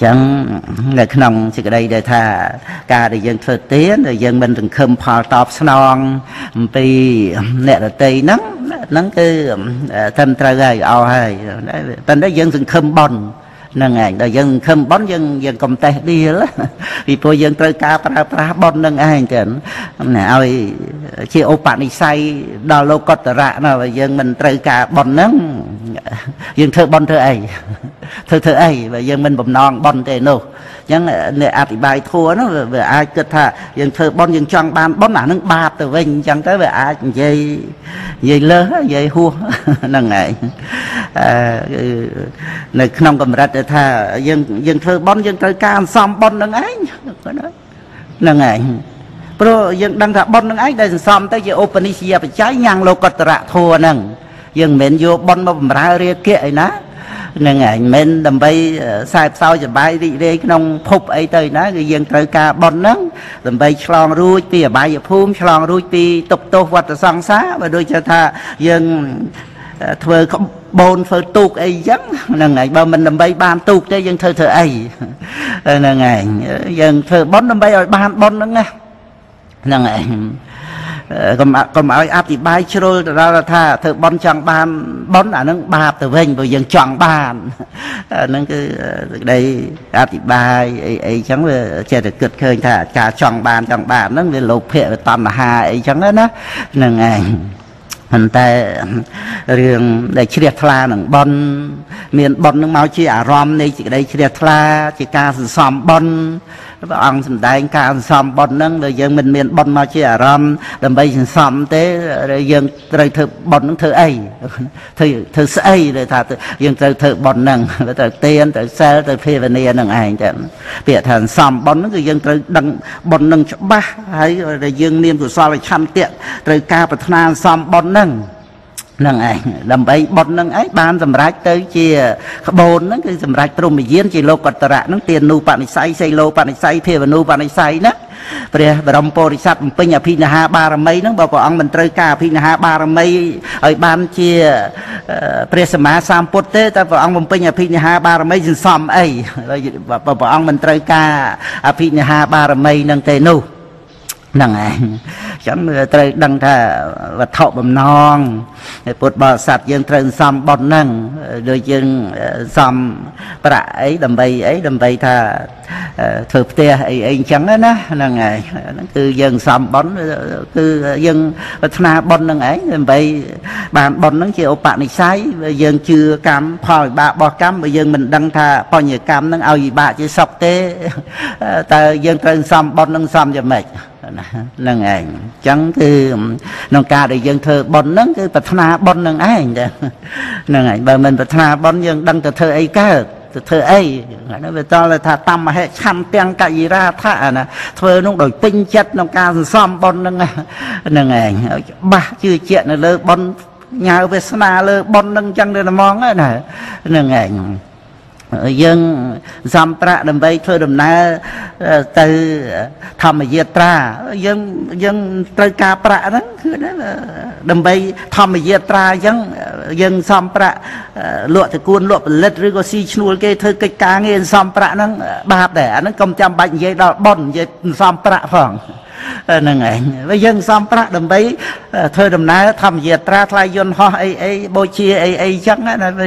ចឹងនៅក្នុងសេចក្តីដែលថាការដែលយើងធ្វើទានដែលយើងមិនសង្ឃឹមផលតបស្នងអំពីអ្នកដទៃហ្នឹងហ្នឹងគឺត្រឹមត្រូវហើយអស់ហើយប៉ុន្តែយើងសង្ឃឹមបុណ្យហ្នឹងឯងដល់យើងសង្ឃឹមបុណ្យយើងកុំតេះដៀលពីព្រោះយើងត្រូវការប្រើប្រាស់បុណ្យហ្នឹងឯងចឹងឲ្យជាឧបនិស្ស័យដល់លោកតរៈណាបើយើងមិនត្រូវការបុណ្យហ្នឹងយើងធ្វើបុណ្យធ្វើអីធ្វើអីបើយើងមិនបំណងបុណ្យទេនោះអញ្ចឹងអ្នកអធិប្បាយធัวនោះវាអាចគិតថាយើងធ្វើបុណ្យយើងចង់បានបុណ្យអានឹងបាបទៅវិញអញ្ចឹងទៅវាអាចនិយាយលើសនិយាយហួសហ្នឹងឯងនៅក្នុងកម្រិតថាយើងធ្វើបុណ្យយើងត្រូវការអន្សំបុណ្យហ្នឹងឯងហ្នឹងឯងព្រោះយើងដឹងថាបុណ្យហ្នឹងឯងដែលសន្សំទៅជាឧបនិស្សយបច្ច័យញ៉ាំងលោកតរៈធัวហ្នឹងយើងមិនមែនយកបុណ្យមកបំរើរាគៈអីណាហ្នឹងឯងមិនដើម្បីខ្សែផ្សោយសបាយរីករាយក្នុងភពអីទៅណាគឺយើងត្រូវការបុណ្យហ្នឹងដើម្បីឆ្លងរួចពីអបាយភូមិឆ្លងរួចពីទុក្ខទោសវដ្តសង្សារបើដូចថាយើងធ្វើក្បូនធ្វើទូកអីចឹងហ្នឹងឯងបើមិនដើម្បីបានទូកទេយើងធ្វើអីហ្នឹងឯងយើងធ្វើបុណ្យដើម្បីឲ្យបានបុណ្យហ្នឹងណាហ្នឹងឯងកុំឲ្យអធិប្បាយជ្រុលទៅដល់ថាធ្វើបុណ្យចង់បានបុណ្យអានឹងបាបទៅវិញព្រោះយើងចង់បានហ្នឹងគឺសេចក្តីអធិប្បាយអីចឹងវាចេះតែគិតឃើញថាការចង់បានហ្នឹងវាលោភៈវាតណ្ហាអីចឹងណាហ្នឹងឯងប៉ុន្តែរឿងដែលជ្រះថ្លានឹងបុណ្យមានបុណ្យនឹងមកជាអារម្មណ៍នៃសេចក្តីជ្រះថ្លាជាការសន្សំបុណ្យព្រះអង្គសម្ដែងការសន្សំបុណ្យហ្នឹងដែលយើងមិនមានបុណ្យមកជាអារម្មណ៍ដើម្បីសន្សំទេយើងត្រូវធ្វើបុណ្យហ្នឹងធ្វើអីធ្វើស្អីដែលថាយើងត្រូវធ្វើបុណ្យហ្នឹងត្រូវទានត្រូវសិលត្រូវភាវនាហ្នឹងឯងចឹងពាក្យថាសន្សំបុណ្យហ្នឹងគឺយើងត្រូវដឹងបុណ្យហ្នឹងច្បាស់ហើយដែលយើងមានកុសលឆន្ទៈត្រូវការប្រាថ្នាសន្សំបុណ្យហ្នឹងហ្នឹងឯងដើម្បីបុណ្យហ្នឹងឯងបានសម្រេចទៅជាក្បូនហ្នឹងគឺសម្រេចព្រហ្មយានជាលោកតរៈហ្នឹងទានូបនិស្ស័យសីលោបនិស្ស័យភាវនូបនិស្ស័យណាព្រះបរមពុរិស័ទបំពេញអភិនិហាបារមីហ្នឹងបើព្រះអង្គមិនត្រូវការអភិនិហាបារមីឲ្យបានជាព្រះសម្មាសម្ពុទ្ធទេតែព្រះអង្គបំពេញអភិនិហាបារមីសន្សំអីបើព្រះអង្គមិនត្រូវការអភិនិហាបារមីហ្នឹងទេនោះហ្នឹងឯងចឹងត្រូវដឹងថាវត្ថុបំណងពុទ្ធបរិស័ទយើងត្រូវសំបុណ្យហ្នឹងដូចយើងសំប្រាក់អីដើម្បីអីដើម្បីថាធ្វើផ្ទះអីអីអញ្ចឹងណាហ្នឹងឯងហ្នឹងគឺយើងសំបុណ្យគឺយើងប្រាថ្នាបុណ្យហ្នឹងឯងដើម្បីបានបុណ្យហ្នឹងជាឧបនិស្ស័យយើងជឿកម្មផលវិបាករបស់កម្មបើយើងមិនដឹងថាបញ្ញកម្មហ្នឹងឲ្យវិបាកជាសុខទេតើយើងត្រូវសំបុណ្យហ្នឹងសំយ៉ាងម៉េចហ្នឹងឯងអញ្ចឹងគឺក្នុងការដែលយើងធ្វើបុណ្យហ្នឹងគឺប្រាថ្នាបុណ្យហ្នឹងឯងហ្នឹងឯងបើមិនប្រាថ្នាបុណ្យយើងដឹងទៅធ្វើអីកើតទៅធ្វើអីហ្នឹងវាតល់ថាតំហិឆន្ទាំងកយិរាថៈណាធ្វើនោះដោយពេញចិត្តក្នុងការសន្សំបុណ្យហ្នឹងហ្នឹងឯងច្បាស់ជឿជាក់នៅលើបុណ្យញ៉ាវវាសនាលើបុណ្យហ្នឹងអញ្ចឹងទៅហ្មងណាហ្នឹងឯងយើងសំប្រាក់ដើម្បីធ្វើដំណើរទៅធម្មយាត្រាយើងត្រូវការប្រាក់ហ្នឹងគឺដើម្បីធម្មយាត្រាអញ្ចឹងយើងសំប្រាក់លក់តកួនលក់ផលិតឬក៏ស៊ីឈ្នួលគេធ្វើកិច្ចការងារសំប្រាក់ហ្នឹងបាបដែរអាហ្នឹងកុំចាំបាច់និយាយដល់បុណ្យនិយាយសំប្រាក់ផងហ្នឹងឯងបើយើងសំប្រាក់ដើម្បីធ្វើដំណើរធម្មយាត្រាថ្លៃយន្តហោះអីអីបូជាអីអីអញ្ចឹង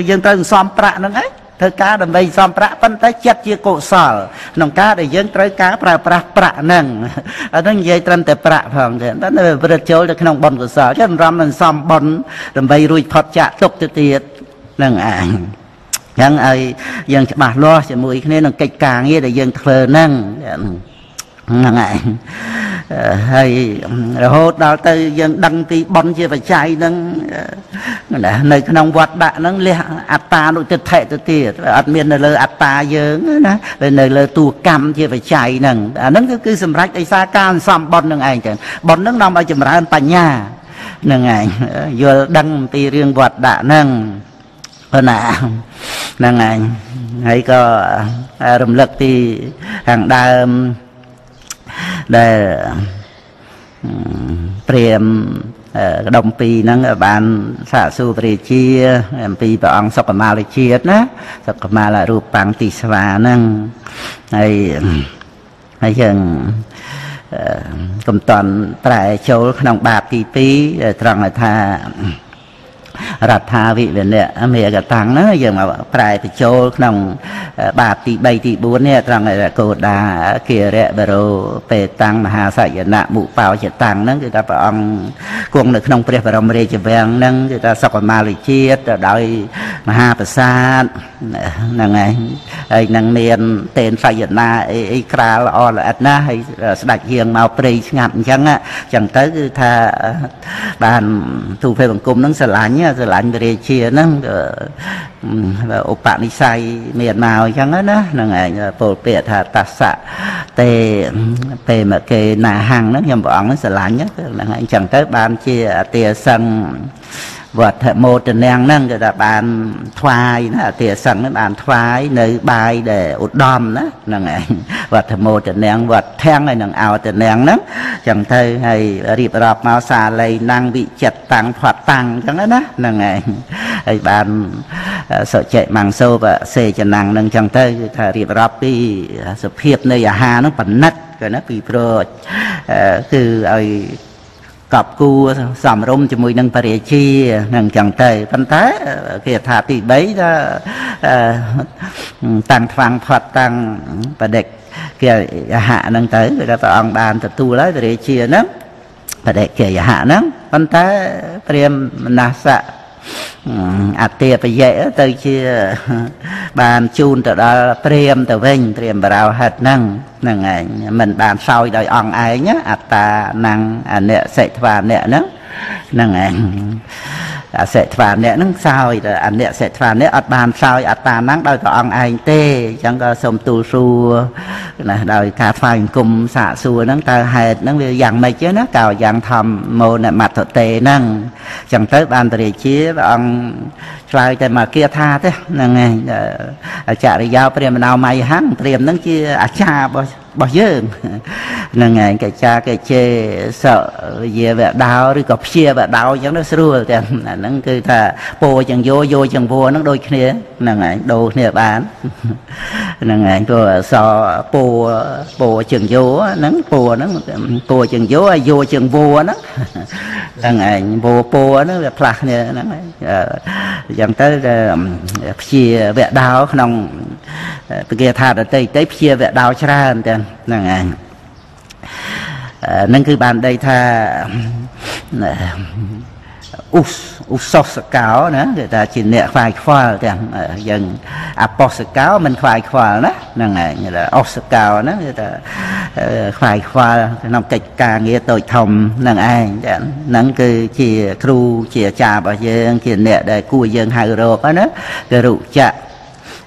យើងត្រូវសំប្រាក់ហ្នឹងឯងធ្វើការដើម្បីសំប្រាក់ប៉ុន្តែចិត្តជាកុសលក្នុងការដែលយើងត្រូវការប្រើប្រាស់ប្រាក់ហ្នឹងអាហ្នឹងនិយាយត្រឹមតែប្រាក់ផងទេតែវាប្រព្រឹត្តចូលទៅក្នុងបុណ្យកុសលចឹងរំនឹងសំបុណ្យដើម្បីរួចផុតចាកទុក្ខទៅទៀតហ្នឹងឯងចឹងឲ្យយើងច្បាស់លាស់ជាមួយគ្នានឹងកិច្ចការងារដែលយើងធ្វើហ្នឹងហ្នឹងឯងហើយរហូតដល់ទៅយើងដឹងពីបុណ្យជាបច្ច័យហ្នឹងនៅក្នុងវត្តដាក់ហ្នឹងលះអត្តានុទិដ្ឋិទៅទៀតអត់មាននៅលើអត្តាយើងណានៅលើតួកម្មជាបច្ច័យហ្នឹងអាហ្នឹងគឺសម្រេចដោយសារការសំបុណ្យហ្នឹងឯងចឹងបុណ្យហ្នឹងនាំឲ្យចម្រើនបញ្ញាហ្នឹងឯងយល់ដឹងពីរឿងវត្តដាក់ហ្នឹងប៉ុណ្ណាហ្នឹងឯងហើយក៏រំលឹកពីខាងដើមដែលព្រាម ក្ដុំពីរហ្នឹងបានសាកសួរព្រះរាជាអំពីព្រះអង្គសុខមាលជាតិណាសុខមាលរូបបាំងទីស្វាហ្នឹងហើយហើយយើងកំតន់ប្រែចូលក្នុងបាបទី2ត្រង់ថារដ្ឋាវិវនៈមេកតាំងហ្នឹងយើងមកប្រែបញ្ចូលក្នុងបាបទី3ទី4នេះត្រង់កោដាគិរៈបរោបេតាំងមហាសយនៈមុបោចតាំងហ្នឹងគឺថាព្រះអង្គគង់នៅក្នុងព្រះបរមរាជវាំងហ្នឹងគឺថាសុខមាលជាតិដោយមហាប្រាសាទហ្នឹងហើយហើយនឹងមានតេនសយនាអីអីក្រាលល្អល្អិតណាស់ហើយស្ដេចយាងមកព្រៃស្ងាត់អញ្ចឹងអញ្ចឹងទៅគឺថាបានទូភេបង្គំហ្នឹងស្រឡាញ់ព្រះរាជាហ្នឹងឧបនិស្ស័យមានមកអញ្ចឹងណាហ្នឹងឯងពោលពាក្យថាតសៈទេពេមកេណាហੰហ្នឹងខ្ញុំព្រះអង្គហ្នឹងស្រឡាញ់ហ្នឹងឯងអញ្ចឹងទៅបានជាអតិសឹងវត្តមោទនាងហ្នឹងគឺថាបានថ្វាយណាអតិសឹងហ្នឹងបានថ្វាយនៅបាយដែលឧត្តមណាហ្នឹងឯងវត្តមោទនាងវត្តធាំងហើយនឹងអោទនាងហ្នឹងចឹងទៅហើយរៀបរាប់មកសាលីណាំងវិចិត្រតាំងផាត់តាំងចឹងណាហ្នឹងឯងហើយបានសុចិមង្សូបសេចនាងហ្នឹងចឹងទៅគឺថារៀបរាប់ពីសភាពនៃអាហារហ្នឹងប៉និតគឺណាពីព្រោះគឺឲ្យកប់គួសំរុំជាមួយនឹងព្រះរាជានឹងចឹងទៅប៉ុន្តែគេថាទី3ថាតាំងថ្វាំងផាត់តាំងបដិគេយហៈហ្នឹងទៅគឺថាព្រះអង្គបានទទួលហើយព្រះរាជាហ្នឹងបដិគេយហៈហ្នឹងប៉ុន្តែព្រាហ្មណ៍មនសៈអតិបយៈទៅជាបានជូនទៅដល់ព្រាហ្មណ៍ទៅវិញព្រាហ្មណ៍បរោហិតហ្នឹងហ្នឹងឯងមិនបានសោយដោយអង្គឯងអត្តាណាំងអនិសិថ្វាអ្នកហ្នឹងហ្នឹងឯងអសិថ្វាអ្នកហ្នឹងសោយតែអនិសិថ្វាអ្នកអត់បានសោយអត្តាណាំងដោយព្រះអង្គឯងទេអញ្ចឹងក៏សូមទូលសួរណាដោយការថ្វាយអង្គមសាកសួរហ្នឹងតើហេតុហ្នឹងវាយ៉ាងម៉េចទេណាកោយ៉ាងធម្មមោនមត្តតេហ្នឹងអញ្ចឹងទៅបានព្រះរាជាព្រះអង្គឆ្លើយតែមកគាថាទេហ្នឹងឯងអចរិយាព្រាមណោម័យហੰព្រាមហ្នឹងជាអាចារ្យរបស់យើងហ្នឹងឯងកិច្ចាកិច្ចេសយាវដោឬក៏ព្យាវដោអញ្ចឹងទៅស្រួលតែអាហ្នឹងគឺថាពោចឹងយោយោចឹងវហ្នឹងដូចគ្នាហ្នឹងឯងដូរគ្នាបានហ្នឹងឯងព្រោះអសពោពោចឹងយោហ្នឹងពោហ្នឹងពោចឹងយោយោចឹងវហ្នឹងហ្នឹងឯងវពោហ្នឹងវាផ្លាស់គ្នាហ្នឹងឯងអញ្ចឹងទៅព្យាវដោក្នុងពគាថាដតីតីព្យាវដោច្រើនតែហ្នឹងឯងហ្នឹងគឺបានដីថាឧសសកោណាគេថាជាអ្នកខ្វាយខ្វល់ទាំងយើងអបសកោមិនខ្វាយខ្វល់ណាហ្នឹងឯងអសកោហ្នឹងគេថាខ្វាយខ្វល់ក្នុងកិច្ចការងារតូចធំហ្នឹងឯងហ្នឹងគឺជាគ្រូជាអាចារ្យរបស់យើងជាអ្នកដែលគួរយើងហៅរកណាគឺរុចៈ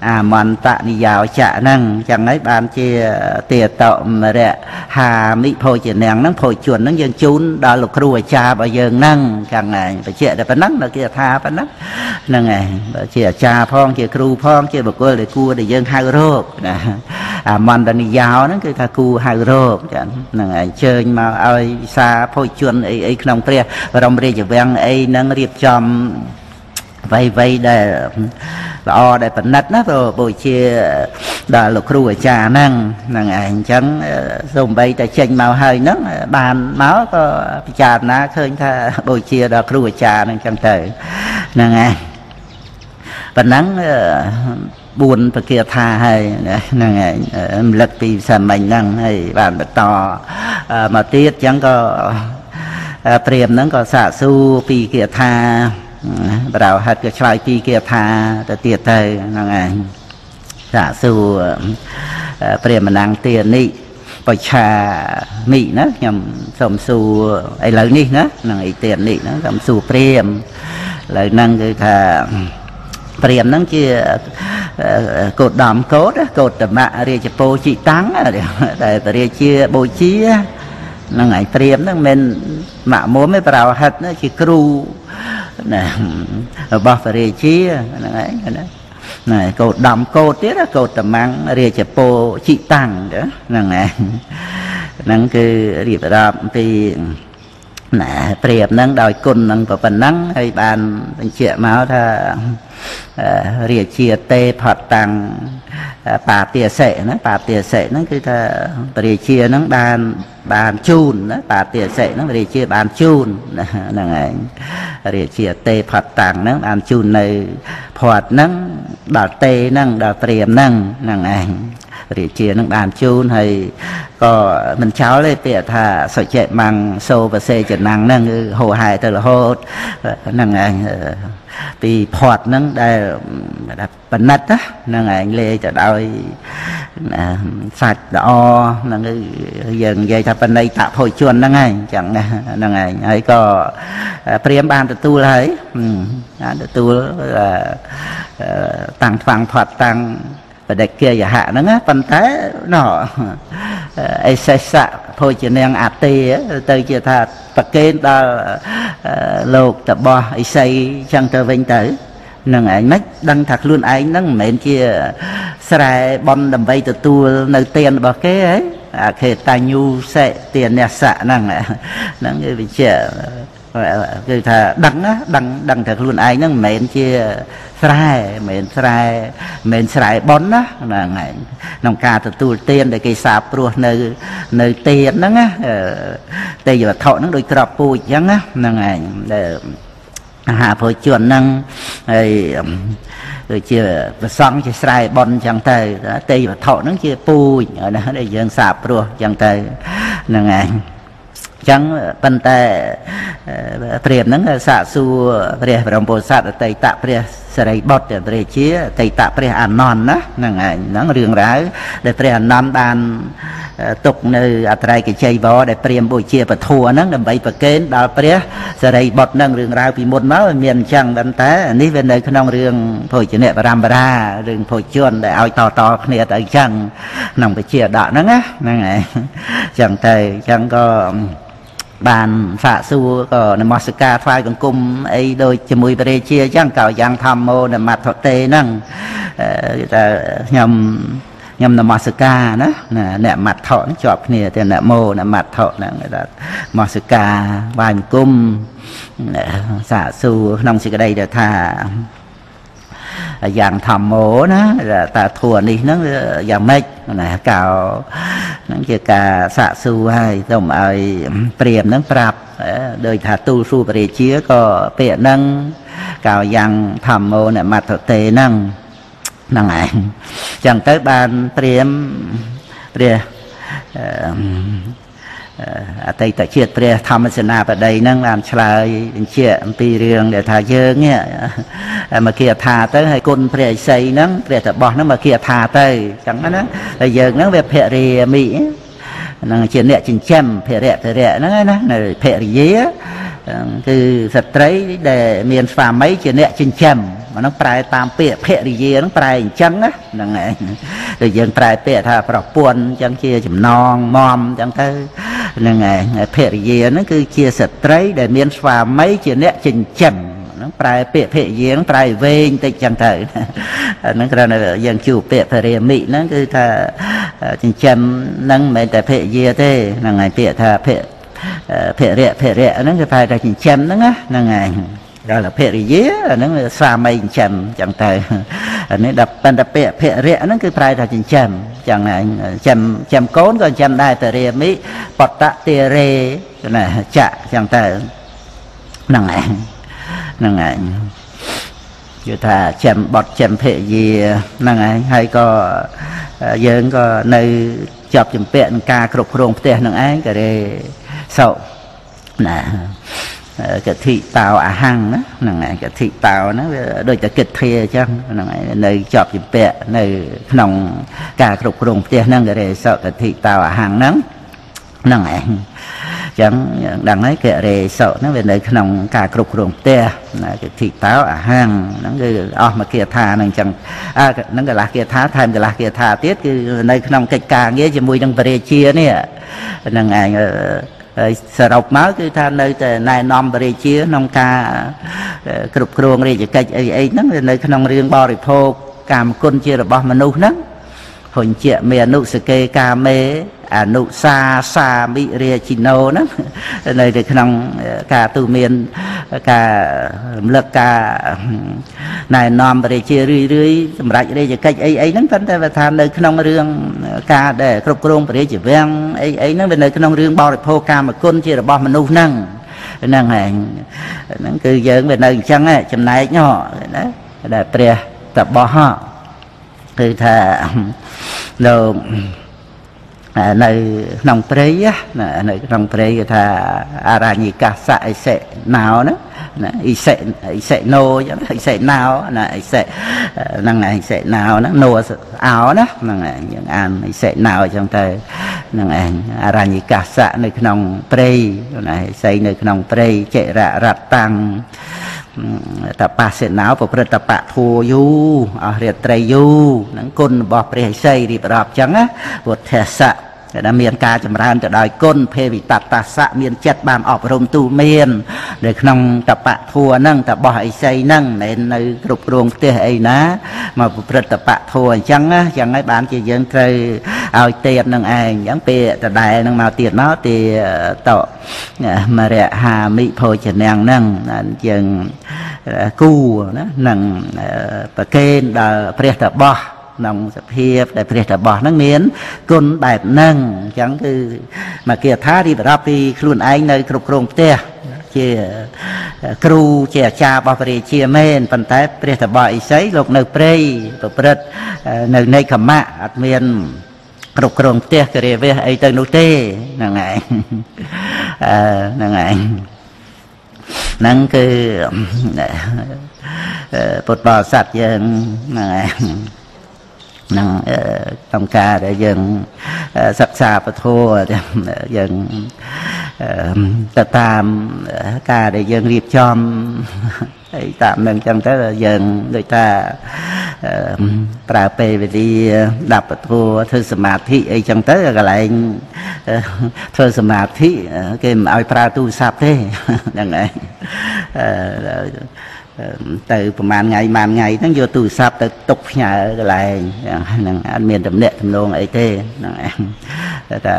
អាមន្តនិយោចៈហ្នឹងចឹងហើយបានជាទាតមរៈហាមិភោជនាងហ្នឹងភោជនហ្នឹងយើងជូនដល់លោកគ្រូអាចារ្យរបស់យើងហ្នឹងចឹងហើយបញ្ជាក់តែប៉ុណ្ណឹងដល់គេថាប៉ុណ្ណឹងហ្នឹងហើយជាអាចារ្យផងជាគ្រូផងជាបុគ្គលដែលគួរដែលយើងហៅរកណាអាមន្តនិយោហ្នឹងគឺថាគួរហៅរកចឹងហ្នឹងហើយអញ្ជើញមកឲ្យវិសាភោជនអីអីក្នុងព្រះបរមរាជវាំងអីហ្នឹងរៀបចំអ្វីៗដែលល្អដែលប៉និតណាព្រោះបូជាដល់លោកគ្រូអាចារ្យហ្នឹងហ្នឹងឯងអញ្ចឹងសូម្បីតែចេញមកហើយហ្នឹងបានមកក៏ពិចារណាឃើញថាបូជាដល់គ្រូអាចារ្យហ្នឹងអញ្ចឹងទៅហ្នឹងឯងប៉ុណ្ណឹង4ពគាថាហើយហ្នឹងឯងរំលឹកពីសាមញ្ញហ្នឹងហើយបានបន្តមកទៀតអញ្ចឹងក៏ព្រាហ្មណ៍ហ្នឹងក៏សាកសួរពីគាថាបរោហិតក៏ឆ្លើយពីគាថាទៅទៀតទៅហ្នឹងឯងសាកសួរព្រាហ្មណ៍ណាំងទានិបច្ឆាមិណាខ្ញុំសូមសួរឥឡូវនេះណាហ្នឹងឯទានិហ្នឹងសូមសួរព្រាហ្មណ៍ឥឡូវហ្នឹងគឺថាព្រាហ្មណ៍ហ្នឹងជាកោតមកោតកោតមរាជពោជិតាំងដែលព្រះរាជាបូជាហ្នឹងឯងព្រាហ្មណ៍ហ្នឹងមិនម៉ាក់មុំទេបរោហិតជាគ្រូណារបស់ព្រះរាជាហ្នឹងឯងណាណែកោតដំកោតទៀតកោតតមាំងរាជពោជិតាំងហ្នឹងឯងហ្នឹងគឺរៀបរាប់ពី ណាព្រាមហ្នឹងដោយគុណហ្នឹងប៉ុណ្ណឹងហើយបានបញ្ជាក់មកថារាជាទេផតតាំងបាទាសិណាបាទាសិហ្នឹងគឺថាព្រះរាជាហ្នឹងបានជូនណាបាទាសិហ្នឹងរាជាបានជូនហ្នឹងឯងរាជាទេផតតាំងហ្នឹងបានជូននៅផតហ្នឹងដល់ទេហ្នឹងដល់ព្រាមហ្នឹងហ្នឹងឯងរាជានឹងបានជូនហើយក៏មិនចោលទេពាក្យថាសុចេមੰសូបសេចនាំងហ្នឹងគឺហោហែទៅរហូតហ្នឹងឯងពីផាត់ហ្នឹងដែលបណិតហ្នឹងឯងលេទៅដោយសាច់ល្អហ្នឹងគឺយើងនិយាយថាបណិតភោជនហ្នឹងឯងចឹងហ្នឹងឯងហើយក៏ព្រាមបានទទួលហើយបានទទួលតាំងថ្វាំងផាត់តាំងបដិគាយហៈហ្នឹងណាប៉ុន្តែណោអេសេសៈភោជនាងអតិទៅជាថាប្រកេនដល់លោកតបោះអិសីចឹងទៅវិញទៅនឹងឯងមិនដឹងថាខ្លួនឯងហ្នឹងមិនមែនជាស្រែបនដើម្បីទទួលនៅទានរបស់គេហីអខេតញ្ញូសិទានសៈហ្នឹងហ្នឹងគឺវិជាគឺថាដឹងណាដឹងថាខ្លួនឯងហ្នឹងមិនមែនជាស្រែមិនមែនស្រែប៉ុនណាហ្នឹងឯងក្នុងការទទួលទានដែលគេសាបព្រោះនៅទានហ្នឹងណាទេយវត្ថុហ្នឹងដូចក្របពូជអញ្ចឹងណាហ្នឹងឯងដែលអាហារភោជនហ្នឹងហើយដូចជាប្រសង់ជាស្រែប៉ុនអញ្ចឹងទៅទេយវត្ថុហ្នឹងជាពូជណាដែលយើងសាបព្រោះអញ្ចឹងទៅហ្នឹងឯងចឹងប៉ុន្តែព្រាមហ្នឹងសាកសួរព្រះបរមពោធិសត្វអតីតព្រះសិរីបុត្រព្រះជាអតីតព្រះអានន្ទណាហ្នឹងឯងហ្នឹងរឿងរ៉ាវដែលព្រះអានន្ទបានទុកនៅអត្រៃកជ័យវរដែលព្រាមបូជាពធហ្នឹងដើម្បីប្រគេនដល់ព្រះសិរីបុត្រហ្នឹងរឿងរ៉ាវពីមុនមកមានអញ្ចឹងប៉ុន្តែនេះវានៅក្នុងរឿងភោជនៈបរមរារឿងភោជនដែលឲ្យតគ្នាទៅអញ្ចឹងក្នុងវិជាដកហ្នឹងណាហ្នឹងឯងអញ្ចឹងទៅអញ្ចឹងក៏បានសាកសួរក៏នមស្ការថ្វាយបង្គំអីដូចជាមួយព្រះរាជាអញ្ចឹងក៏យ៉ាងធម្មោនមត្ថទេហ្នឹងគេថាខ្ញុំនមស្ការណាអ្នកមត្ថហ្នឹងជាប់គ្នាតែនមោនមត្ថហ្នឹងគេថានមស្ការថ្វាយបង្គំសាកសួរក្នុងសេចក្តីដែលថាយ៉ាងធម្មោណាតើធัวនេះហ្នឹងយ៉ាងម៉េចណាកោហ្នឹងជាការសាកសួរហើយសូមឲ្យព្រាមហ្នឹងប្រាប់ដោយថាទូលសួរព្រះរាជាក៏ពាក្យហ្នឹងកោយ៉ាងធម្មោនមត្ថទេហ្នឹងហ្នឹងឯងចឹងទៅបានព្រាមព្រះអតីតជាតិព្រះធម្មសេនាបតីហ្នឹងបានឆ្លើយបញ្ជាក់អំពីរឿងដែលថាយើងនេះមកគាថាទៅហើយគុណព្រះឥសីហ្នឹងព្រះតបោះហ្នឹងមកគាថាទៅអញ្ចឹងណាហើយយើងហ្នឹងវាភរិយាមិហ្នឹងជាអ្នកចិញ្ចឹមភរិយហ្នឹងណានៅភរិយាគឺស្ត្រីដែលមានស្វាមីជាអ្នកចិញ្ចឹមហ្នឹងប្រែតាមពាក្យភរិយាហ្នឹងប្រែអញ្ចឹងណាហ្នឹងឯងដូចយើងប្រែពាក្យថាប្រពន្ធអញ្ចឹងជាចំណងមមអញ្ចឹងទៅហ្នឹងឯងភរិយាហ្នឹងគឺជាស្ត្រីដែលមានស្វាមីជាអ្នកចិញ្ចឹមហ្នឹងប្រែពាក្យភរិយាហ្នឹងប្រែវែងតិចអញ្ចឹងទៅហ្នឹងគ្រាន់តែយើងជួបពាក្យភរិយាមិហ្នឹងគឺថាចិញ្ចឹមហ្នឹងមិនមែនតែភរិយាទេហ្នឹងឯងពាក្យថាភរិយហ្នឹងគឺប្រែថាចិញ្ចឹមហ្នឹងណាហ្នឹងឯងដល់ភរិយាហ្នឹងស្វាមីចិញ្ចឹមអញ្ចឹងទៅអានេះដល់ប៉ុន្តែពាក្យភរិយហ្នឹងគឺប្រែថាចិញ្ចឹមអញ្ចឹងឯងចិញ្ចឹមកូនក៏ចិញ្ចឹមដែរភរិយាមិបតតិរេណាចៈអញ្ចឹងទៅហ្នឹងឯងហ្នឹងឯងគឺថាចិញ្ចឹមបុត្រចិញ្ចឹមភរិយាហ្នឹងឯងហើយក៏យើងក៏នៅជាប់ជំពាក់នឹងការគ្រប់គ្រងផ្ទះហ្នឹងឯងក៏រេសុណាកធិតោអហង្ណាហ្នឹងឯងកធិតោហ្នឹងវាដូចតែគិតធាអញ្ចឹងហ្នឹងឯងនៅជាប់ជំពាក់នៅក្នុងការគ្រប់គ្រងផ្ទះហ្នឹងក៏រេសុកធិតោអហង្ហ្នឹងហ្នឹងឯងអញ្ចឹងដឹងហើយករេសុហ្នឹងវានៅក្នុងការគ្រប់គ្រងផ្ទះណាកធិតោអហង្ហ្នឹងគឺអស់មកគាថាហ្នឹងអញ្ចឹងអើហ្នឹងកន្លះគាថាថែមកន្លះគាថាទៀតគឺនៅក្នុងកិច្ចការងារជាមួយនឹងព្រះរាជានេះហ្នឹងឯងហើយសរុបមកគឺថានៅតែណែនាំព្រះរាជាក្នុងការគ្រប់គ្រងរាជកិច្ចអីហ្នឹងនៅក្នុងរឿងបរិភោគកាមគុណជារបស់មនុស្សហ្នឹង ហុញជាមេអនុសកេកាមេអនុសាសាមិរាជិណោហ្នឹងនៅក្នុងការទូមានការរំលឹកការណែនាំព្រះរាជារឿយរឿយសម្រាប់រាជកិច្ចអីអីហ្នឹងប៉ុន្តែបើថានៅក្នុងរឿងការដែលគ្រប់គ្រងព្រះរាជវាំងអីអីហ្នឹងវានៅក្នុងរឿងបរិភោគកាមគុណជារបស់មនុស្សហ្នឹងហ្នឹងឯងហ្នឹងគឺយើងវានៅអញ្ចឹងចំណែកណាដែលព្រះតបោះគឺថាលោកនៅក្នុងព្រៃណានៅក្នុងព្រៃគេថាអរញ្ញិកាសៈអិសិណោណាអិសិអិសិណោអញ្ចឹងអិសិណោណាអិសិហ្នឹងអិសិណោហ្នឹងណោអោណាហ្នឹងឯងយើងអានអិសិណោអញ្ចឹងទៅហ្នឹងឯងអរញ្ញិកាសៈនៅក្នុងព្រៃណាអិសីនៅក្នុងព្រៃចិររតតាំងតបសេណោប្រព្រឹត្តតបធัวយូអស់រាត្រីយូហ្នឹងគុណរបស់ព្រះឥសីរៀបរាប់អញ្ចឹងណាពុទ្ធសៈដែលមានការចម្រើនទៅដោយគុណភេវិតតសៈមានចិត្តបានអប់រំទូមាននៅក្នុងតបធัวហ្នឹងតបោះឥសីហ្នឹងមិននៅគ្រប់គ្រងផ្ទះអីណាមកប្រព្រឹត្តតបធัวអញ្ចឹងណាអញ្ចឹងហើយបានជាយើងត្រូវឲ្យទៀតនឹងឯងអញ្ចឹងពេលដដែលហ្នឹងមកទៀតមកទីតមរហាមិភោជនាងហ្នឹងយើងគូណានឹងប្រកេនដល់ព្រះតបោះក្នុងសភាពដែលព្រះតបោះហ្នឹងមានគុណបែបហ្នឹងអញ្ចឹងគឺមកគាថារៀបរាប់ពីខ្លួនឯងនៅគ្រប់គ្រងផ្ទះជាគ្រូជាអាចារ្យរបស់ព្រះរាជាមែនប៉ុន្តែព្រះតបោះឥសីលោកនៅព្រៃប្រព្រឹត្តនៅនៃខមៈអត់មានគ្រប់គ្រងផ្ទះគិរិវៈអីទៅនោះទេហ្នឹងឯងហ្នឹងឯងហ្នឹងគឺពុទ្ធបរិស័ទយើងហ្នឹងឯងហ្នឹងក្នុងការដែលយើងសិក្សាពធយើងទៅតាមការដែលយើងរៀបចំអីតាមនឹងចឹងទៅយើងដូចថាប្រើពេលវេលាដាប់ពធធ្វើសមាធិអីចឹងទៅកន្លែងធ្វើសមាធិគេមិនឲ្យប្រើទូរស័ព្ទទេហ្នឹងឯងទៅប្រហែលថ្ងៃប្រហែលថ្ងៃហ្នឹងយកទូរស័ព្ទទៅទុកផ្ញើកន្លែងហ្នឹងអត់មានតំណែងតំណងអីទេហ្នឹងឯងតែ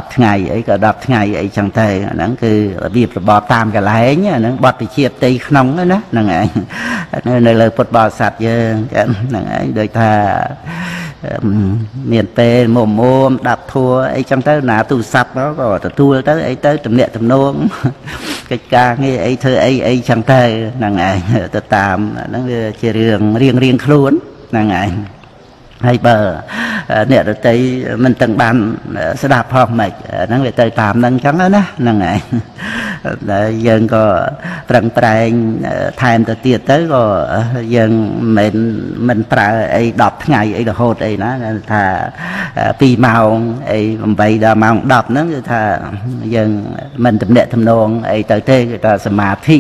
10ថ្ងៃអីក៏10ថ្ងៃអីចឹងទៅអាហ្នឹងគឺរបៀបរបបតាមកន្លែងអាហ្នឹងបទវិជាផ្ទៃក្នុងណាហ្នឹងឯងនៅលើពុទ្ធបរិស័ទយើងហ្នឹងឯងដូចថាមានពេលមុំមុំដាប់ធัวអីចឹងទៅណាទូរស័ព្ទមកក៏ទទួលទៅអីទៅតំណាក់តំណងកិច្ចការងារអីធ្វើអីអីចឹងទៅហ្នឹងឯងទៅតាមហ្នឹងវាជារឿងរៀងរៀងខ្លួនហ្នឹងឯងហើយបើអ្នកដតីមិនទាំងបានស្ដាប់ផងមិនហ្នឹងវាទៅតាមហ្នឹងចឹងណាហ្នឹងឯងដែលយើងក៏ប្រឹងប្រែងថែមទៅទៀតទៅក៏យើងមិនប្រើអី10ថ្ងៃអីរហូតអីណាថា2ម៉ោងអី8ដល់ម៉ោង10ហ្នឹងគឺថាយើងមិនតំណាក់តំណងអីទៅទេគឺថាសមាធិ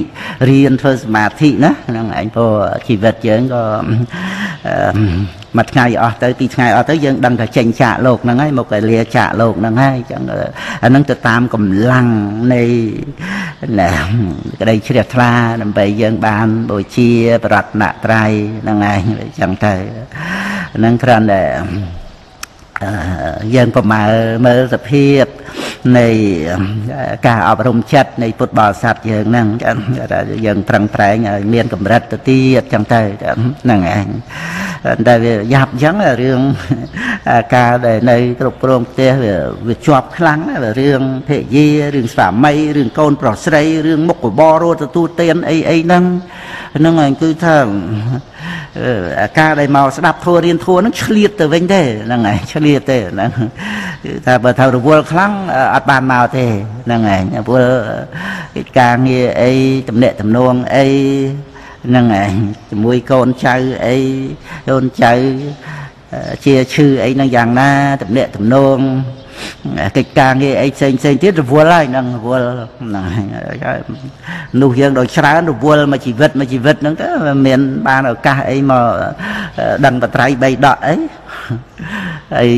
រៀនធ្វើសមាធិណាហ្នឹងឯងព្រោះជីវិតយើងក៏មួយថ្ងៃអស់ទៅពីរថ្ងៃអស់ទៅយើងដឹងថាចេញចាកលោកហ្នឹងហើយមកឲ្យលាចាកលោកហ្នឹងហើយអញ្ចឹងអាហ្នឹងទៅតាមកម្លាំងនៃក្តីជ្រះថ្លាដើម្បីយើងបានបូជាប្រតនត្រ័យហ្នឹងឯងអញ្ចឹងទៅហ្នឹងគ្រាន់តែយើងប្រមាលមើលសភាពនៃការអប់រំចិត្តនៃពុទ្ធបរិស័ទយើងហ្នឹងយើងប្រឹងប្រែងឲ្យមានកម្រិតទៅទៀតចឹងទៅហ្នឹងឯងតែវាយ៉ាប់អញ្ចឹងរឿងការដែលនៅគ្រប់គ្រងផ្ទះវាជាប់ខ្លាំងរឿងភរិយារឿងស្វាមីរឿងកូនប្រុសស្រីរឿងមុខរបររត់ទទួលទានអីអីហ្នឹងហ្នឹងឯងគឺថាការដែលមកស្ដាប់ធัวរៀនធัวហ្នឹងឆ្លៀតទៅវិញទេហ្នឹងឯងឆ្លៀតទេហ្នឹងគឺថាបើថារវល់ខ្លាំងអត់បានមកទេហ្នឹងឯងព្រោះកិច្ចការងារអីតំណាក់តំណងអីហ្នឹងឯងជាមួយកូនចៅអីកូនចៅជាឈឺអីហ្នឹងយ៉ាងណាតំណាក់តំណងកិច្ចការងារអីផ្សេងផ្សេងទៀតរវល់ហើយហ្នឹងរវល់ហ្នឹងនោះយើងដោយច្រើនរវល់មួយជីវិតមួយជីវិតហ្នឹងទៅមានបានឱកាសអីមកដឹងបត្រៃបីដកអីហើយ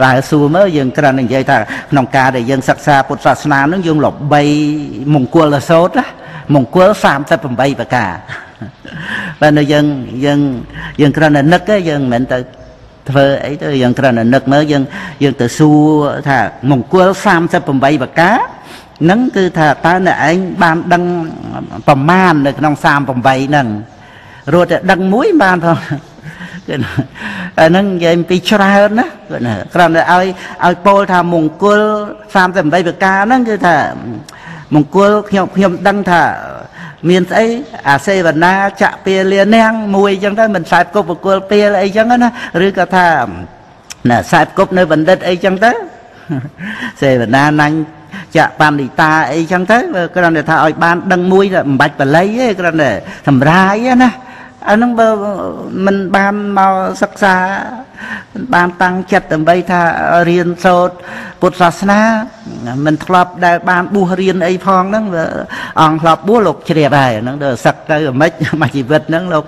ដើរសួរមើលយើងគ្រាន់តែនិយាយថាក្នុងការដែលយើងសិក្សាពុទ្ធសាសនាហ្នឹងយើងល្បីមង្គលសូត្រណាមង្គល38ប្រការបើនៅយើងយើងយើងគ្រាន់តែនឹកទេយើងមិនមែនទៅ ធ្វើអីទៅយើងគ្រាន់តែនឹកមើលយើងយើងទៅសួរថាមង្គល38ប្រការហ្នឹងគឺថាតើអ្នកឯងបានដឹងប្រមាណនៅក្នុង38ហ្នឹងរត់តែដឹងមួយបានផងគឺអាហ្នឹងនិយាយពីច្រើនណាគឺគ្រាន់តែឲ្យឲ្យពោលថាមង្គល38ប្រការហ្នឹងគឺថាមង្គលខ្ញុំខ្ញុំដឹងថាមានស្អីអាសេវនាចៈពាលានាងមួយអញ្ចឹងទៅមិនខ្សែគប់បកុលពាលអីចឹងណាឬក៏ថាណាខ្សែគប់នៅបណ្ឌិតអីចឹងទៅសេវនាណាញ់ចៈបណ្ឌិតាអីចឹងទៅគ្រាន់តែថាឲ្យបានដឹងមួយមិនបាច់បល័យទេគ្រាន់តែសម្រាយណាអាហ្នឹងបើមិនបានមកសិក្សាមិនបានតាំងចិត្តដើម្បីថារៀនសូត្រពុទ្ធសាសនាមិនធ្លាប់ដែលបានបួសរៀនអីផងហ្នឹងអង្គធ្លាប់បួសលោកជ្រាបហើយហ្នឹងទៅសឹកទៅមិនមួយជីវិតហ្នឹងលោក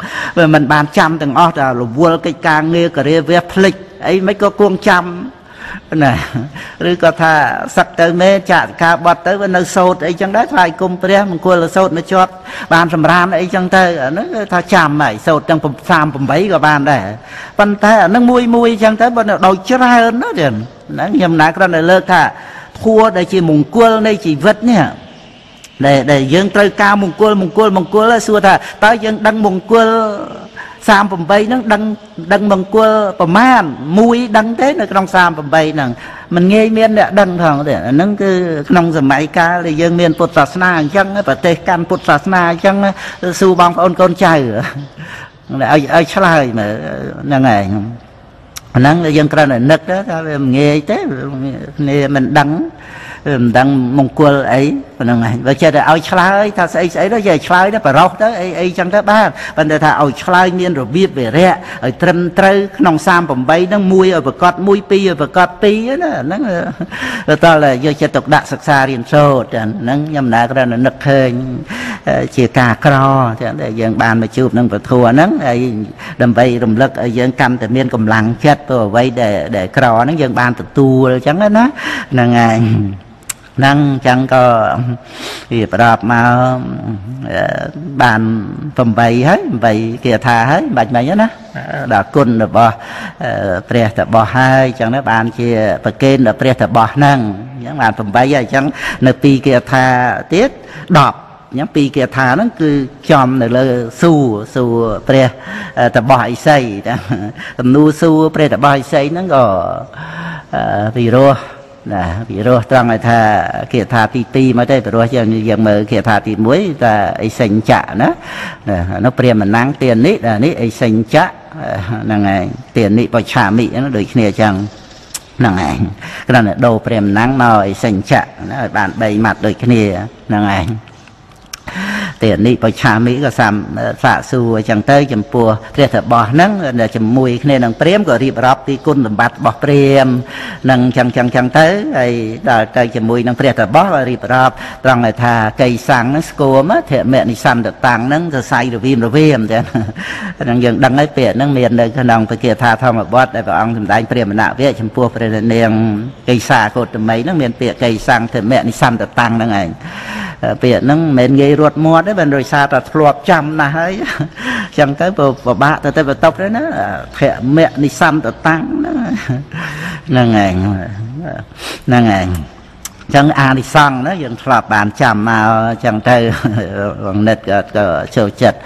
មិនបានចាំទាំងអស់តែរវល់កិច្ចការងារការិយាវះភ្លេចអីមិនក៏គួងចាំណាឬក៏ថាសឹកទៅមេចាក់ការបត់ទៅវានៅសូត្រអីចឹងដែរថ្វាយគុំព្រះមង្គលសូត្រនៅជាប់បានសម្រានអីចឹងទៅអាហ្នឹងគឺថាចាំហើយសូត្រទាំង38ក៏បានដែរប៉ុន្តែអាហ្នឹងមួយមួយចឹងទៅបើដោយច្រើនណាចឹងហ្នឹងខ្ញុំណាគ្រាន់តែលើកថាធัวដែលជាមង្គលនៃជីវិតនេះដែលយើងត្រូវការមង្គលមង្គលមង្គលសួរថាតើយើងដឹងមង្គល38ហ្នឹងដឹងដឹងមង្គលប្រមាណមួយដឹងទេនៅក្នុង38ហ្នឹងមិនងាយមានអ្នកដឹងផងទេអាហ្នឹងគឺក្នុងសម័យកាលដែលយើងមានពុទ្ធសាសនាអញ្ចឹងប្រទេសកាន់ពុទ្ធសាសនាអញ្ចឹងសួរបងប្អូនកូនចៅឲ្យឲ្យឆ្លើយមើលហ្នឹងឯងហ្នឹងយើងគ្រាន់តែនឹកថាវាមិនងាយទេគ្នាមិនដឹងមិនដឹងមង្គលអីហ្នឹងឯងបើចេះតែឲ្យឆ្លើយថាស្អីស្អីទៅចេះឆ្លើយទៅបរោះទៅអីអីចឹងទៅបានប៉ុន្តែថាឲ្យឆ្លើយមានរបៀបវិរៈឲ្យត្រឹមត្រូវក្នុង38ហ្នឹងមួយឲ្យប្រកាស1 2ឲ្យប្រកាស2ណាហ្នឹងតើតើយកចិត្តទុកដាក់សិក្សារៀនសូត្រហ្នឹងខ្ញុំណាគ្រាន់តែនឹកឃើញជាការក្រចឹងដែលយើងបានមកជួបនឹងពធហ្នឹងហើយដើម្បីរំលឹកឲ្យយើងកាន់តែមានកម្លាំងចិត្តព្រោះអ្វីដែលក្រហ្នឹងយើងបានទទួលចឹងណាហ្នឹងហើយហ្នឹងចឹងក៏វាប្រដប់មកបាន8ហើយ8គាថាហើយបាច់មិញណាដល់គុណរបស់ព្រះតបោះហើយចឹងណាបានជាប្រគេនដល់ព្រះតបោះហ្នឹងអញ្ចឹងបាន8ហើយអញ្ចឹងនៅ2គាថាទៀត10អញ្ចឹង2គាថាហ្នឹងគឺចំនៅលើសួរសួរព្រះតបោះឥសីទំនួលសួរព្រះតបោះឥសីហ្នឹងក៏ពិរោះណាពិរោះត្រង់ឲ្យថាគាថាទី2មកទេពិរោះយើងយើងមើលគាថាទី1ថាអិសិញ្ចៈណានោះព្រាមណាំងទាននេះនេះអិសិញ្ចៈហ្នឹងឯងទាននេះបច្ឆាមិហ្នឹងដូចគ្នាអញ្ចឹងហ្នឹងឯងគ្រាន់តែដូរព្រាមណាំងមកអិសិញ្ចៈណាឲ្យបាន3ម៉ាត់ដូចគ្នាហ្នឹងឯងទាននេះបច្ឆាមិក៏សាសាកសួរអញ្ចឹងទៅចំពោះព្រះតបោះហ្នឹងជាមួយគ្នានឹងព្រាមក៏រៀបរាប់ពីគុណសម្បត្តិរបស់ព្រាមនឹងចឹងចឹងចឹងទៅហើយដល់ទៅជាមួយនឹងព្រះតបោះក៏រៀបរាប់ត្រង់ឲ្យថាកៃសាំងហ្នឹងស្គមធមនិសន្តតាំងហ្នឹងសរសៃរវៀមរវៀមចឹងហ្នឹងយើងដឹងហើយពាក្យហ្នឹងមាននៅក្នុងពគាថាធម្មបទដែលព្រះអង្គសម្ដែងព្រាមណវៈចំពោះព្រះនាងកៃសាកោតមីហ្នឹងមានពាក្យកៃសាំងធមនិសន្តតាំងហ្នឹងឯងពាក្យហ្នឹងមិនមែនងាយរត់មាត់ទេបើដោយសារតែធ្លាប់ចាំណាស់ហើយចឹងទៅពិបាកទៅទៅបន្ទប់ទៅណាធមៈនិសន្តតាំងហ្នឹងហ្នឹងឯងហ្នឹងឯងចឹងអានិសង្ឃណាយើងធ្លាប់បានចាំមកចឹងទៅបងនិតក៏ចូលចិត្ត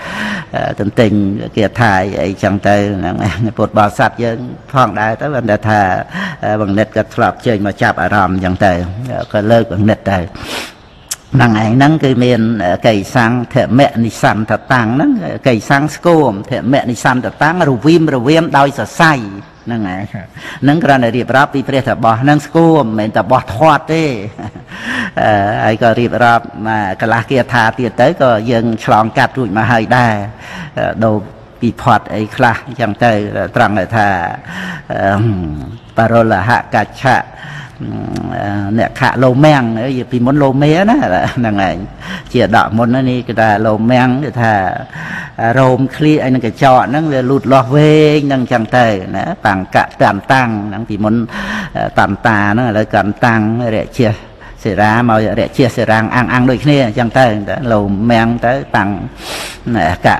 ទន្ទិញគាថាអីចឹងទៅហ្នឹងពុទ្ធបរិស័ទយើងផងដែរទៅបានថាបងនិតក៏ធ្លាប់ជើញមកចាប់អារម្មណ៍ចឹងទៅក៏លើកបងនិតទៅហ្នឹងឯងហ្នឹងគឺមានកៃសង្ឃធមនិសន្តតាំងហ្នឹងកៃសង្ឃស្គមធមនិសន្តតាំងរវៀមរវៀមដោយសរសៃហ្នឹងឯងហ្នឹងគ្រាន់តែរៀបរាប់ពីព្រះតបោះហ្នឹងស្គមមិនមែនតបោះធាត់ទេហើយក៏រៀបរាប់មកកន្លះគាថាទៀតទៅក៏យើងឆ្លងកាត់រួចមកហើយដែរដូរពិផតអីខ្លះអញ្ចឹងទៅត្រង់ថាបរិលហកច្ចៈអ្នកខៈលោមាំងពីមុនលោមាណាហ្នឹងឯងជាដកមុននេះគេថាលោមាំងគេថារោមឃ្លៀកឯនឹងកញ្ចក់ហ្នឹងវាលូតលាស់វែងហ្នឹងចឹងទៅណាបង្កៈតាំតាំងហ្នឹងពីមុនតាំតាហ្នឹងឥឡូវកាន់តាំងរជា សេរាមករជាសេរាំងអាំងអាំងដូចគ្នាអញ្ចឹងទៅលោមៀងទៅតាំងកៈ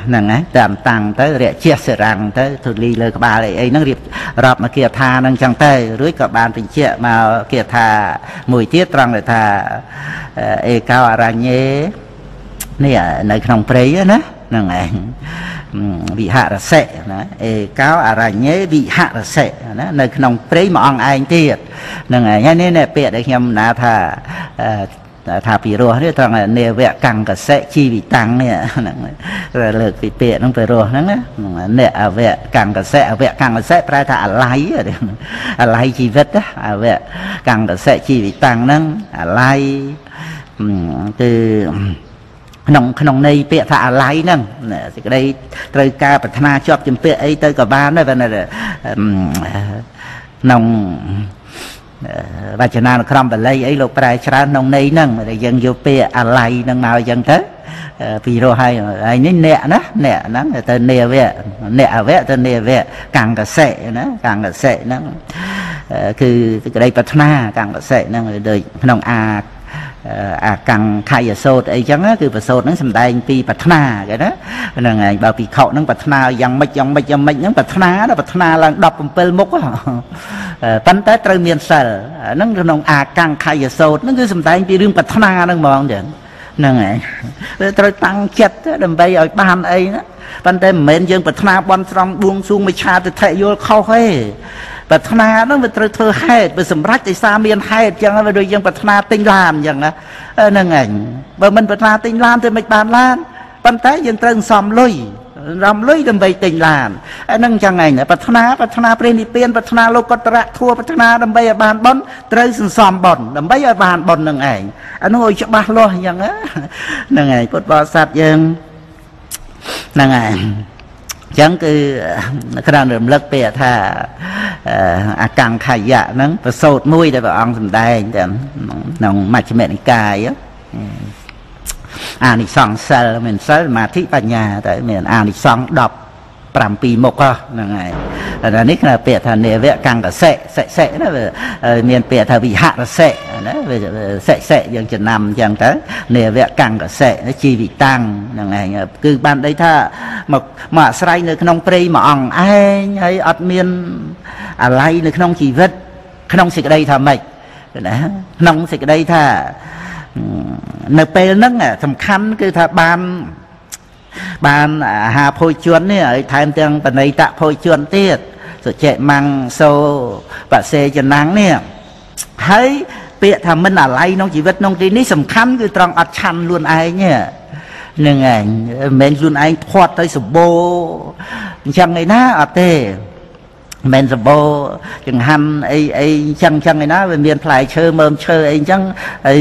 ហ្នឹងហើយតាមតាំងទៅរជាសេរាំងទៅធូលីលើក្បាលអីអីហ្នឹងរៀបរាប់មកគាថាហ្នឹងអញ្ចឹងទៅរួចក៏បានបញ្ជាក់មកគាថាមួយទៀតត្រង់ដែលថាអេកោអរញ្ញេនេះនៅក្នុងព្រៃណាហ្នឹងឯងវិហរសិណាអេកោអរញ្ញេវិហរសិណានៅក្នុងព្រៃមួយអង្គឯងទៀតហ្នឹងឯងហើយនេះពាក្យដែលខ្ញុំណាថាថាពីរោះនេះត្រង់នាវកង្កសិជីវិតាំងនេះហ្នឹងលើកពីពាក្យហ្នឹងពីរោះហ្នឹងណាអ្នកអវកង្កសិអវកង្កសិប្រែថាអាល័យអាល័យជីវិតអវកង្កសិជីវិតាំងហ្នឹងអាល័យគឺក្នុងក្នុងន័យពាក្យថាអាល័យហ្នឹងសេចក្តីត្រូវការប្រាថ្នាជាប់ជំពាក់អីទៅក៏បានដែរប៉ុន្តែក្នុងវចនានុក្រមបាលីអីលោកប្រែច្រើនក្នុងន័យហ្នឹងដែលយើងយកពាក្យអាល័យហ្នឹងមកអញ្ចឹងទៅពីរោះហើយហើយនេះអ្នកណាអ្នកហ្នឹងទៅនាវៈអ្នកអវៈទៅនាវៈកង្កសិណាកង្កសិហ្នឹងគឺសេចក្តីប្រាថ្នាកង្កសិហ្នឹងដូចក្នុងអាកង្ខយសោតអីចឹងគឺប្រសូតហ្នឹងសំដែងពីប្រាថ្នាគេណាហ្នឹងឯងបើភិក្ខុហ្នឹងប្រាថ្នាយ៉ាងម៉េចយ៉ាងម៉េចយ៉ាងម៉េចហ្នឹងប្រាថ្នាប្រាថ្នាឡើង17មុខប៉ុន្តែត្រូវមានសិលហ្នឹងក្នុងអាកង្ខយសោតហ្នឹងគឺសំដែងពីរឿងប្រាថ្នាហ្នឹងហ្មងចឹងហ្នឹងឯងត្រូវតាំងចិត្តដើម្បីឲ្យបានអីណាប៉ុន្តែមិនមែនយើងប្រាថ្នាបន់ស្រន់បួងសួងមិច្ឆាទិដ្ឋិយល់ខុសទេប្រាថ្នាហ្នឹងវាត្រូវធ្វើហេតុវាសម្រេចដោយសារមានហេតុចឹងវាដូចយើងប្រាថ្នាទិញឡានចឹងណាហ្នឹងឯងបើមិនប្រាថ្នាទិញឡានទៅមិនបានឡានប៉ុន្តែយើងត្រូវសំលុយរំលុយដើម្បីទិញឡានហ្នឹងចឹងឯងប្រាថ្នាប្រាថ្នាព្រះនិព្វានប្រាថ្នាលោកតរៈធัวប្រាថ្នាដើម្បីឲ្យបានបុណ្យត្រូវសន្សំបុណ្យដើម្បីឲ្យបានបុណ្យហ្នឹងឯងអានោះឲ្យច្បាស់លាស់ចឹងហ្នឹងឯងពុទ្ធបរិស័ទយើងហ្នឹងឯងចឹងគឺក្រៅរំលឹកពាក្យថាអកង្ខយៈហ្នឹងប្រសូតមួយដែលព្រះអង្គសម្ដែងតែក្នុងមជ្ឈិមនិកាយអានិសង្សសិលមានសិលសមាធិបញ្ញាតែមានអានិសង្ស17មុខហ្នឹងហើយអានេះគេពាក្យថានាវកង្កសិសិសិណាមានពាក្យថាវិហរសិណាសិសិយើងចំណាំអញ្ចឹងទៅនាវកង្កសិជីវិតាំងហ្នឹងឯងគឺបានន័យថាមកមកអាស្រ័យនៅក្នុងព្រៃមួយអង្គឯងហើយអត់មានអាល័យនៅក្នុងជីវិតក្នុងសេចក្តីថាម៉េចណាក្នុងសេចក្តីថានៅពេលហ្នឹងសំខាន់គឺថាបានអាហារភោជននេះហើយថែមទាំងបណិតភោជនទៀតសុចេមង្សូបសេចនាំងនេះហើយពាក្យថាមិនអាល័យក្នុងជីវិតក្នុងទីនេះសំខាន់គឺត្រង់អត់ឆាន់ខ្លួនឯងហ្នឹងឯងមិនមែនខ្លួនឯងធាត់ទៅសម្បូរអញ្ចឹងឯណាអត់ទេមិនសម្បូរចង្ហាន់អីអីចឹងចឹងឯណាវាមានផ្លែឈើមើមឈើអីចឹងអី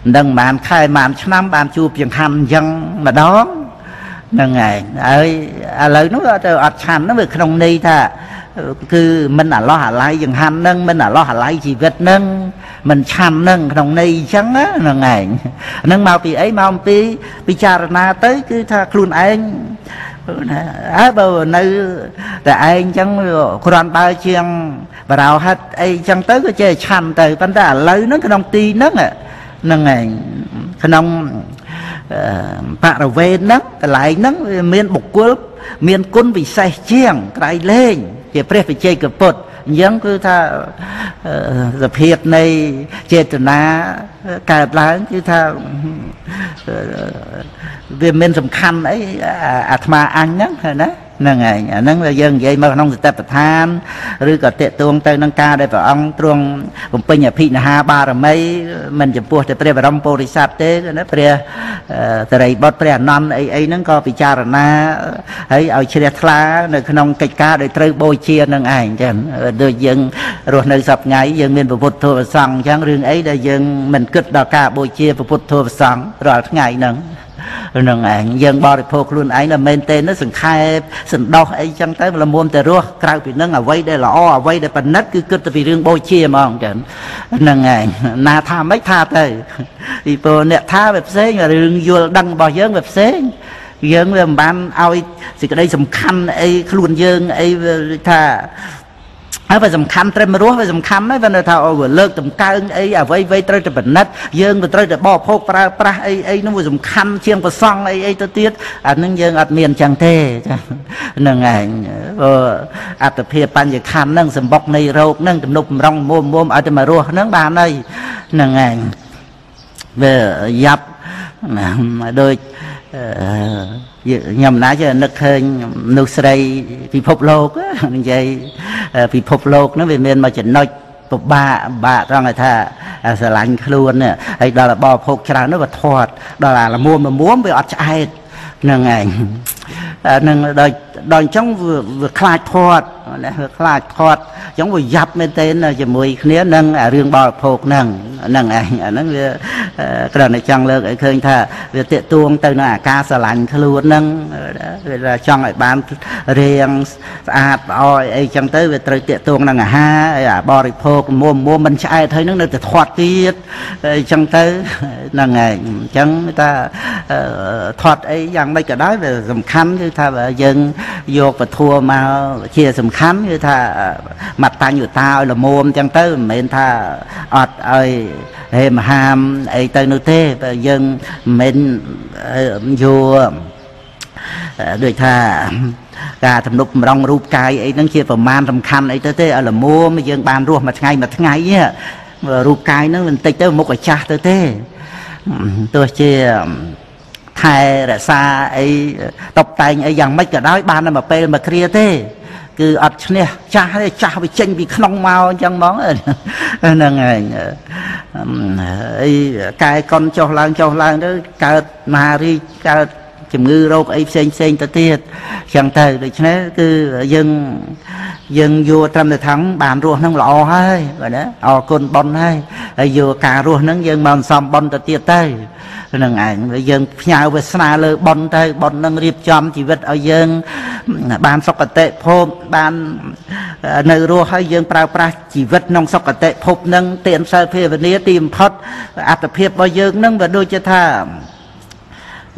មិនដឹងប៉ុន្មានខែប៉ុន្មានឆ្នាំបានជួបចង្ហាន់អញ្ចឹងម្ដងហ្នឹងឯងហើយឥឡូវនោះទៅអត់ឆាន់ហ្នឹងវាក្នុងន័យថាគឺមិនអាឡោះអាល័យចង្ហាន់ហ្នឹងមិនអាឡោះអាល័យជីវិតហ្នឹងមិនឆាន់ហ្នឹងក្នុងន័យអញ្ចឹងហ្នឹងឯងហ្នឹងមកពីអីមកអំពីពិចារណាទៅគឺថាខ្លួនឯងហើយបើនៅតែឯងអញ្ចឹងគ្រាន់បើជាងបរោហិតអីអញ្ចឹងទៅក៏ចេះឆាន់ទៅប៉ុន្តែឥឡូវហ្នឹងក្នុងទីហ្នឹងហ្នឹងឯងក្នុងបរិវេណហ្នឹងកន្លែងហ្នឹងវាមានបុគ្គលមានគុណពិសេសជាងក្រៃលែងជាព្រះវិជ័យកពុទ្ធអញ្ចឹងគឺថាសភាពនៃចេតនាកើតឡើងគឺថាវាមិនសំខាន់អីអាត្មាអញហ្នឹងណាហ្នឹងឯងអាហ្នឹងយើងនិយាយមកក្នុងសតិប្បដ្ឋានឬក៏តេតួងទៅនឹងការដែលព្រះអង្គទ្រង់បំពេញអភិនិហាបារមីមិនចំពោះតែព្រះបរមពុរិស័ទទេណាព្រះសិរីបុត្រព្រះអនន្តអីអីហ្នឹងក៏ពិចារណាហើយឲ្យជ្រះថ្លានៅក្នុងកិច្ចការដែលត្រូវបូជានឹងឯងចឹងដូចយើងរស់នៅសប្ថ្ងៃយើងមានពុទ្ធធម៌សង្ឃអញ្ចឹងរឿងអីដែលយើងមិនគិតដល់ការបូជាពុទ្ធធម៌សង្ឃរាល់ថ្ងៃហ្នឹងហ្នឹងឯងយើងបរិភោគខ្លួនឯងដល់មែនទេនោះសង្ខេបសន្តោសអីចឹងទៅល្មមតែរស់ក្រៅពីនឹងអ្វីដែលល្អអ្វីដែលប៉និតគឺគិតទៅពីរឿងបូជាហ្មងចឹងហ្នឹងឯងណាថាម៉េចថាទៅពីព្រោះអ្នកថាវាផ្សេងរឿងយល់ដឹងរបស់យើងវាផ្សេងយើងវាមិនបានឲ្យសេចក្តីសំខាន់អីខ្លួនយើងអីថា ហើយបើសំខាន់ត្រឹមរស់វាសំខាន់ហើយបើនៅថាអូវាលើកតម្កើងអីអ្វីអ្វីត្រូវតែពិនិត្យយើងវាត្រូវតែបរិភោគប្រើប្រាស់អីអីនោះវាសំខាន់ជាងប្រសង់អីអីទៅទៀតអានឹងយើងអត់មានចឹងទេចាហ្នឹងឯងព្រោះអត្តភាពបញ្ញខណ្ឌហ្នឹងសម្បុកនៃរោគហ្នឹងទំនប់បំរុងមុំមុំឲ្យតែមករស់ហ្នឹងបានហើយហ្នឹងឯងវាយ៉ាប់ដូចខ្ញុំណាចេះនឹកឃើញមនុស្សស្រីពិភពលោកនិយាយពិភពលោកហ្នឹងវាមានមួយចំណុចពិបាកបាក់ត្រង់ថាស្រឡាញ់ខ្លួនហើយដល់បរិភោគច្រើននោះវាធាត់ដល់អាល្មួមល្មួមវាអត់ឆ្អែតហ្នឹងឯងនឹងដល់អញ្ចឹងវាខ្លាចធាត់ណាវាខ្លាចធាត់អញ្ចឹងវាយ៉ាប់មែនទែនជាមួយគ្នានឹងរឿងបរិភោគហ្នឹងហ្នឹងឯងអាហ្នឹងវាគ្រាន់តែចង់លើកឲ្យឃើញថាវាតាកទួងទៅនឹងអាការស្រឡាញ់ខ្លួនហ្នឹងវាចង់ឲ្យបានរាងស្អាតល្អអីចឹងទៅវាត្រូវតាកទួងនឹងអាហារហើយអាបរិភោគមុំមុំមិនឆ្អែតហើយហ្នឹងនៅតែធាត់ទៀតអីចឹងទៅហ្នឹងឯងអញ្ចឹងថាធាត់អីយ៉ាងម៉េចក៏ដោយវាសំខាន់គឺថាយើងយកពធមកជាសំខាន់គឺថាមតញ្ញតាឲ្យល្មមចឹងទៅមិនមែនថាអត់ឲ្យហេមហាមអីទៅនោះទេបើយើងមិនមែនយកដូចថាការទំនប់បំរុងរូបកាយអីហ្នឹងជាប្រមាណសំខាន់អីទៅទេឲ្យល្មមយើងបានរស់មួយថ្ងៃមួយថ្ងៃរូបកាយហ្នឹងបន្តិចទៅមុខឲ្យចាស់ទៅទេទោះជាថែរក្សាអីតបតែងអីយ៉ាងម៉េចក៏ដោយបានតែមួយពេលមួយគ្រាទេគឺអត់ឈ្នះចាស់ទេចាស់វាចេញពីក្នុងមកអញ្ចឹងហ្មងហ្នឹងឯងអីកែកុនចុះឡើងចុះឡើងទៅកើតមហារីកកើតជំងឺរោគអីផ្សេងផ្សេងទៅទៀតអញ្ចឹងទៅដូច្នេះគឺយើងយកត្រឹមតែថងបានរស់ហ្នឹងល្អហើយបាទណាអរគុណបុណ្យហើយហើយយកការរស់ហ្នឹងយើងមកសំបុណ្យទៅទៀតទៅហ្នឹងឯងយើងផ្ញើវាសនាលើបុណ្យទៅបុណ្យនឹងរៀបចំជីវិតឲ្យយើងបានសុគតិភពបាននៅរស់ហើយយើងប្រើប្រាស់ជីវិតក្នុងសុគតិភពហ្នឹងទានសិលភាវនាទីបំផុតអត្តភាពរបស់យើងហ្នឹងវាដូចជាថា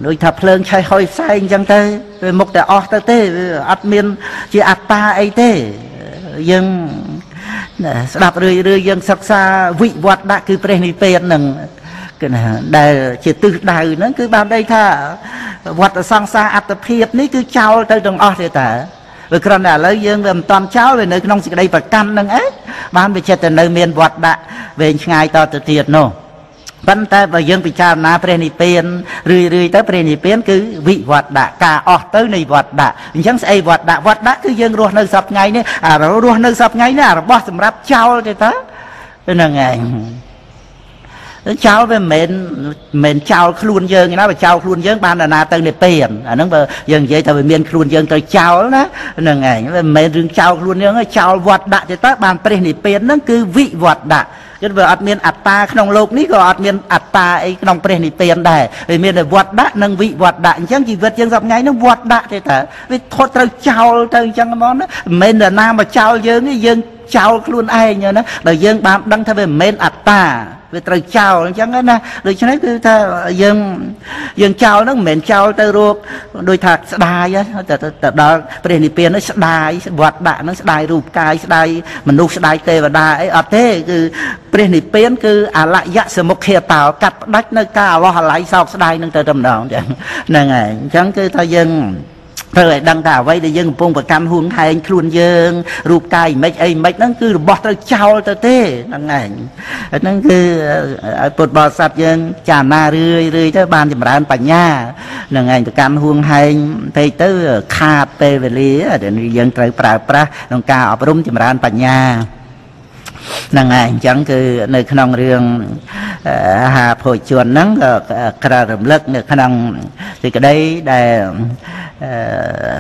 ដូចថាភ្លើងឆេះហុយផ្សែងអញ្ចឹងទៅវាមុខតែអស់ទៅទេវាអត់មានជាអត្តាអីទេយើងស្ដាប់រឿយរឿយយើងសិក្សាវិវត្តដាក់គឺព្រះនិព្វានហ្នឹងគឺណាដែលជាទិសដៅហ្នឹងគឺបានន័យថាវត្តសង្សារអត្តភាពនេះគឺចោលទៅទាំងអស់ទេតាវាគ្រាន់តែឥឡូវយើងវាមិនតាន់ចោលវានៅក្នុងសេចក្តីប្រកាន់ហ្នឹងឯងបានវាចិត្តតែនៅមានវត្តដាក់វែងឆ្ងាយតទៅទៀតនោះប៉ុន្តែបើយើងពិចារណាព្រះនិព្វានរឿយរឿយទៅព្រះនិព្វានគឺវិវត្តដាក់ការអស់ទៅនៃវត្តដាក់អញ្ចឹងស្អីវត្តដាក់វត្តដាក់គឺយើងរស់នៅសប្ថ្ងៃនេះអារស់នៅសប្ថ្ងៃនេះអារបស់សម្រាប់ចោលទេតាហ្នឹងឯងចោលវាមិនមែនចោលខ្លួនយើងណាបើចោលខ្លួនយើងបានណាទៅនិព្វានអាហ្នឹងបើយើងនិយាយថាវាមានខ្លួនយើងទៅចោលណាហ្នឹងឯងវាមិនមែនរឿងចោលខ្លួនយើងទេចោលវត្តដាក់ទេតើបានព្រះនិព្វានហ្នឹងគឺវិវត្តដាក់គឺវាអត់មានអត្តាក្នុងលោកនេះក៏អត់មានអត្តាអីក្នុងព្រះនិព្វានដែរវាមានតែវត្តដាក់និងវិវត្តដាក់អញ្ចឹងជីវិតយើងសប្ថ្ងៃហ្នឹងវត្តដាក់ទេតើវាថត់ត្រូវចោលទៅអញ្ចឹងហ្មងណាមិនមែនណាមកចោលយើងទេយើងចោលខ្លួនឯងណាដល់យើងបានដឹងថាវាមិនមែនអត្តាវាត្រូវចោលអញ្ចឹងណាដូច្នេះគឺថាយើងចោលហ្នឹងមិនមែនចោលទៅរកដូចថាស្ដាយទៅដល់ព្រះនិព្វានហ្នឹងស្ដាយវត្តដាក់ហ្នឹងស្ដាយរូបកាយស្ដាយមនុស្សស្ដាយទេវតាអីអត់ទេគឺព្រះនិព្វានគឺអលយសមុខេតោកាត់ផ្ដាច់នៅការអលោះអាល័យសោកស្ដាយហ្នឹងទៅតែម្ដងចឹងហ្នឹងហើយអញ្ចឹងគឺថាយើងត្រូវឲ្យដឹងថាអ្វីដែលយើងកំពុងប្រកាន់ហួងហែងខ្លួនយើងរូបកាយមិនអីមិនហ្នឹងគឺរបស់ត្រូវចោលទៅទេហ្នឹងឯងហ្នឹងគឺឲ្យពុទ្ធបរិស័ទយើងចារណារឿយរឿយទៅបានចម្រើនបញ្ញាហ្នឹងឯងប្រកាន់ហួងហែងពេកទៅខាតពេលវេលាដែលយើងត្រូវប្រើប្រាស់ក្នុងការអប់រំចម្រើនបញ្ញាហ្នឹងឯងអញ្ចឹងគឺនៅក្នុងរឿងអាហារភោជនហ្នឹងក៏ក្រារំលឹកនៅក្នុងសេចក្តីដែល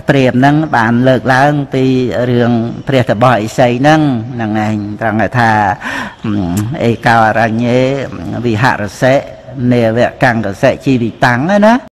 ព្រាហ្មណ៍ហ្នឹងបានលើកឡើងពីរឿងព្រះតបោះឥសីហ្នឹងហ្នឹងឯងត្រង់ថាអេកោអរញ្ញេវិហរសិនេវកង្កសិជីវិតាំងណា